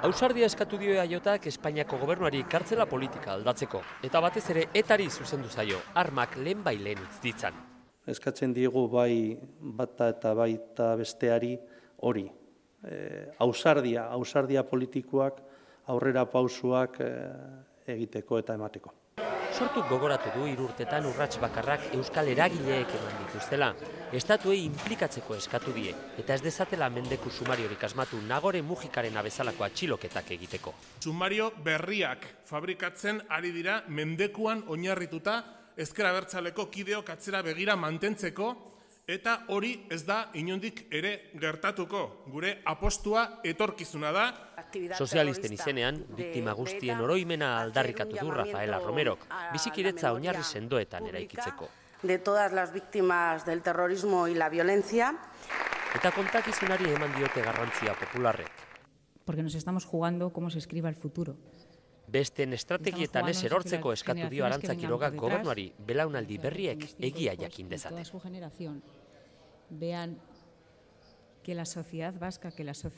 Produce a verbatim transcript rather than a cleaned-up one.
Ausardia eskatu dio eaiotak Espainiako gobernuari kartzela politika aldatzeko, eta batez ere etari zuzendu zaio, armak lehen bai lehen utz ditzan. Eskatzen diegu bai bata eta baita besteari hori. Ausardia, ausardia politikoak aurrera pausuak egiteko eta emateko. Sortuk gogoratu du hiru urtetan urrats bakarrak euskal eragileek eman dituztela. Estatuei inplikatzeko eskatu die, eta ez dezatela mendeku sumariorik asmatu Nagore Mujikaren bezalako atxiloketak egiteko. Sumario berriak fabrikatzen ari dira mendekuan oinarrituta ezker abertzaleko kideok atzera begira mantentzeko, eta hori ez da inondik ere gertatuko. Gure apostua etorkizuna da. Sozialisten izenean, biktima guztien oroimena aldarrikatu du Rafaela Romerok, bizikiretza oinarri sendoetan eraikitzeko. De todas las víctimas del terrorismo y la violencia. Eta kontakizunari eman diote garrantzia popularrek. Porque nos estamos jugando cómo se escriba el futuro. Besten estrategietan ez erortzeko eskatu dio Arantza Quirogak gobernuari belaunaldi berriek egia jakin dezaten. Vean que la sociedad vasca, que la sociedad